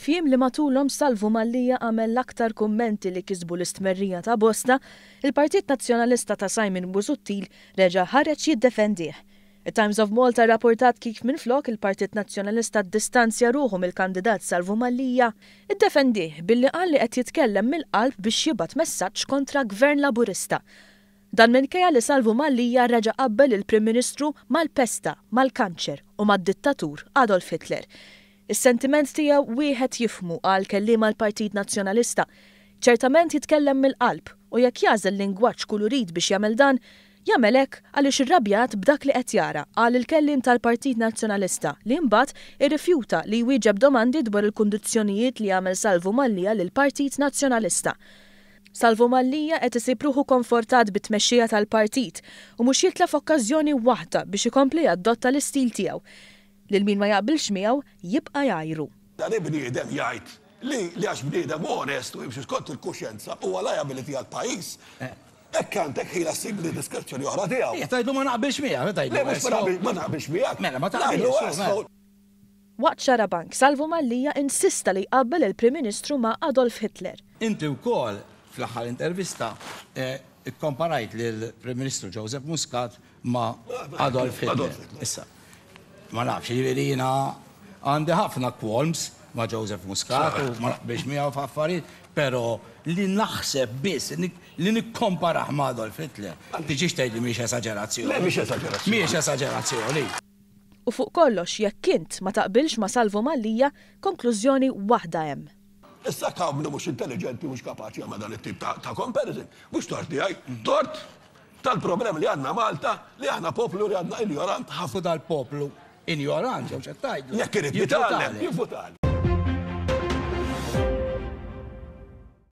F'jiem li matulhom Salvu Mallia għamel l-aktar kummenti li kisbu l-istmerrija ta' bosta, il-Partit Nazzjonalista ta' Simon Busuttil reġa' ħareġ jiddefendih. It-Times of Malta rrapportat kif minflok il-Partit Nazzjonalista ddistanzja ruħu mill-kandidat Salvu Mallia, iddefendih billi qal li qed jitkellem mill-qalb biex jibgħat messaġġ kontra Gvern Laburista. Dan minkejja li Salvu Mallia reġa' qabbel lill-Prim Ministru mal-pesta, mal-kanċer u mad-dittatur Adolf Hitler. Is-sentiment tiegħu wieħed jifhmu, qal kelliem għall-Partit Nazzjonalista. Ċertament jitkellem mill-qalb u jekk jagħżel lingwaġġ kulurit biex jagħmel dan, jagħmel hekk għaliex irrabjat b'dak li qed jara, qal il-kelliem tal-Partit Nazzjonalista li imbagħad irrifjuta li jwieġeb domandi dwar il-kundizzjonijiet li għamel Salvu Mallia lill-Partit Nazzjonalista. Salvu Mallia qed isib ruħu konfortat bit-tmexxija tal-partit u mhux jitlef okkażjoni waħda biex ikompli jaddotta l-istil tiegħu. Lil min ma jaqbilx miegħu jibqa' jgħajru. Dan il-bniedem jgħid li li għax bniedem onest u jimxi skont il-kuxjenza huwa liability għall-pajjiż. Hekk għandek ħila ssib li diskrezzjoni oħra tiegħu. Qiegħed tgħidlu ma naqbilx miegħek, tgħidlu. Le mhux ma naqbilx miegħek. Mela ma taqbilx. Waqt Xarabank, Salvu Mallia insista li jqabbel il-Prim Ministru ma' Adolf Hitler. Inti wkoll fl-aħħar intervista kkomparajt lill-Prim Ministru Joseph Muscat ma' Adolf Hitler. Issa, ma nafx, jiġifieri jiena għandi ħafna qualms ma' Joseph Muscat u ma naqbilx miegħu f'affarijiet, però li naħseb biss li nikkomparah ma' Adolf Hitler, tiġix tgħidli mhix esaġerazzjoni. Le mhix esaġerazzjoni. Mhijiex esaġerazzjoni. U fuq kollox jekk int ma taqbilx ma' Salvu Mallia, konklużjoni waħda hemm. Issa hawn min mhux intelliġenti mhux kapaċi jagħmel dan it-tip ta' comparison. Mhux tort tiegħi, tort tal-problemi li għandna Malta li aħna poplu li għandna injorant ħafna. U dal-poplu injorant jew x'qed tgħidlu. Jekk irid jitgħallem, jivvutali.